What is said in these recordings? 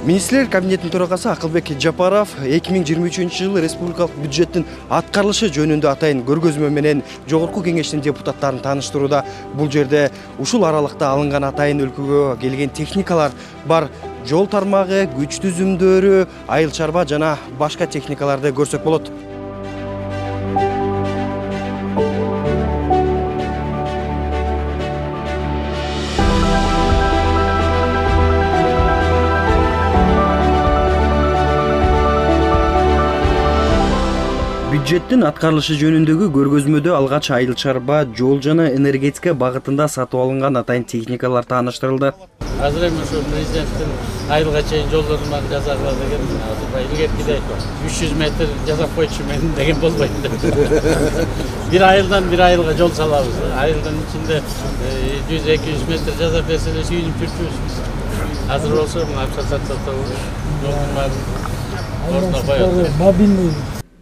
Министрлер кабинетинин төрагасы Акылбек Жапаров 2023-жылы республикалык бюджеттин аткарылышы жөнүндө атайын көргөзмө менен жогорку кеңештин депутаттарын тааныштырууда. Бул жерде ушул аралыкта алынган атайын өлкөгө келген техникалар бар. Жол тармагы, күч түзүмдөрү, айыл чарба жана башка техникаларды көрсөк болот. Бюджеттин аткарылышы жөнүндөгү көргөзмөдө алгач айыл чарба, жол жана энергетика багытында сатып алынган атайын техникалар тааныштырылды. Азыр эми ушу президенттин айылга чейин жол тармагын жасагыла деген илгеркидей 300 метр жасап койчу мен деген болбойт. Бир айылдан бир айылга жол салабыз. Айылдын ичинде 100-200 метр жасап берсе эле сүйүнүп жүрчүбүз. Азыр болсо акча сатсак жолдун баарын ордуна коёбуз. Мобильный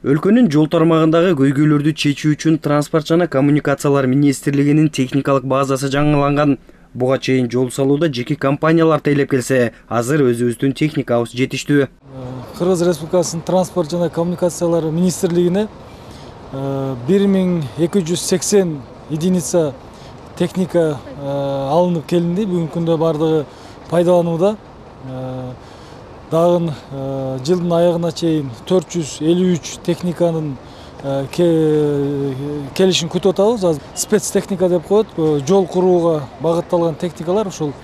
Өлкөнүн жол тармагындагы көйгөйлөрдү чечүү үчүн Транспорт жана коммуникациялар министрлигинин техникалык базасы жаңыланган. Буга чейин жол салууда жеке компаниялар тейлеп келсе, азыр өзүбүздүн техникабыз жетиштүү. Кыргыз Республикасынын Транспорт жана коммуникациялар министрлигине 1280 единица техника алынып келинди. Бүгүнкү күндө бардыгы пайдаланууда. Дагы жылдын аягына чейин 453 техниканын келишин күтүп атабыз. Азыр спецтехника деп коет. Жол курууга багытталган техникалар ушул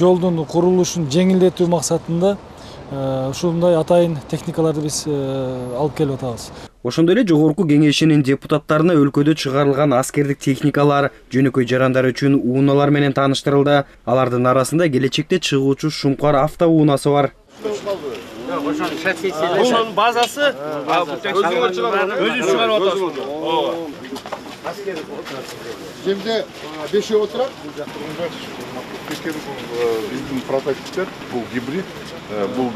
жолдун курулушун жеңилдетүү максатында ушундай атайын техникаларды биз алып келип атабыз. Ошондой эле жогорку кеңешинин депутаттарына өлкөдө чыгарылган аскердик техникалар, жөнөкөй жарандар үчүн унаалар менен тааныштырылды. Алардын арасында келечекте чыгуучу Шумкар автоунаасы бар. Ошонун базасы өзү чыгарып атасыз. Жерде 5 отурат. Биздин прототиптер бул гибрид, бул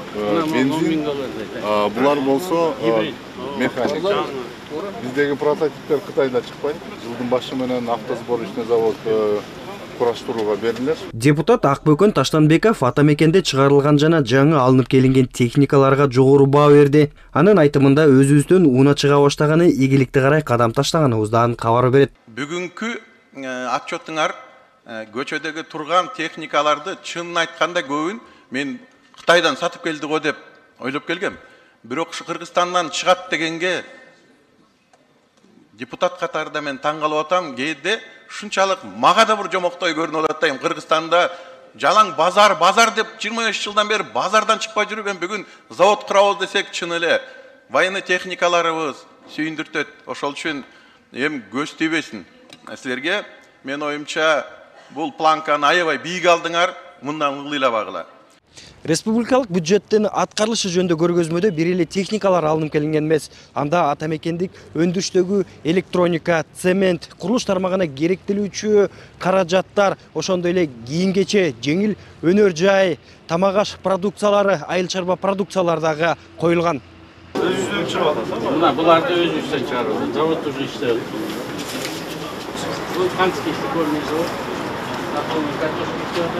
бензин. Булар болсо механик. Биздеги прототиптер Кытайда чыкпайт. Жылдын башы менен автосборочный завод кураштырууга берилет. Депутат Акбөкөн Таштанбеков атамекенде чыгарылган жана жаңы алынып келинген техникаларга жогору баа берди. Анын айтымында өзүбүздөн уна чыга баштаганы ийгиликти карай кадам таштаганыбыздан кабар берет. Бүгүнкү отчетуңар көчөдөгү турган техникаларды чынын айтканда көбүн мен Кытайдан сатып келди го деп ойлоп келгем. Бирок ушу Кыргызстандан чыгат дегенге депутат катарында мен таң калып атам. Кээде шунчалык мага да бир жомоктой көрүнүп атат. Кыргызстанда жалаң базар деп 25 жылдан бери базардан чыкпай жүргөн бүгүн завод курабыз десек чын эле военный техникаларыбыз сүйүндүртөт. Ошол үчүн эми көз тийбесин. Силерге мен оюмча бул планканы аябай бийик алдыңар, мындан ылдыйлабагыла. Республикалык бюджеттин аткарылышы жөнүндө көргөзмөдө бир эле техникалар алынып келинген эмес. Анда атамекендик өндүрүштөгү электроника, цемент, курулуш тармагына керектелүүчү каражаттар, ошондой эле кийим-кече, жеңил өнөр жай, тамак аш продукциялары, айыл чарба продукциялары дагы коюлган. Өзүңүздөн чыгып атасыз. Мына буларды өзүбүздөн чыгарабыз. Завод уже иштеп. Бул канча иштеп көрмөйсүз? Картошка иштеп.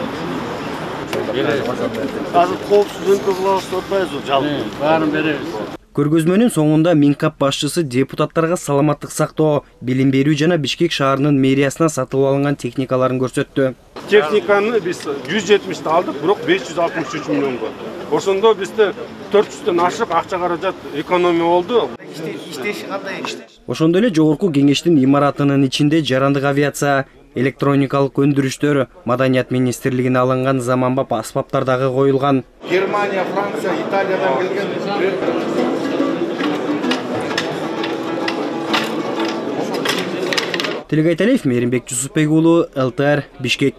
Азыр коопсуз өнкө кылабыз деп атпайбызбы, жалпы? Баарын беребиз. Көргөзмөнүн соңунда Минкап башчысы депутаттарга саламаттык сактоо, билим берүү жана Бишкек шаарынын мэриясына сатып алынган техникаларын көрсөттү. Техниканы биз 170 алдык, бирок 563 миллионго. Ошондо бизде 400дөн ашык акча каражат экономия болду. Иштеши кандай иште? Ошондой эле жогорку кеңештин имаратынын ичинде жарандык авиация, электроникалык өндүрүштөр, Маданият министрлигине алынган заманбап аспаптар дагы коюлган. Германия, Франция, Италиядан келген. Телегайталиев Мейримбек Жусупбек уулу, ЛТР, Бишкек.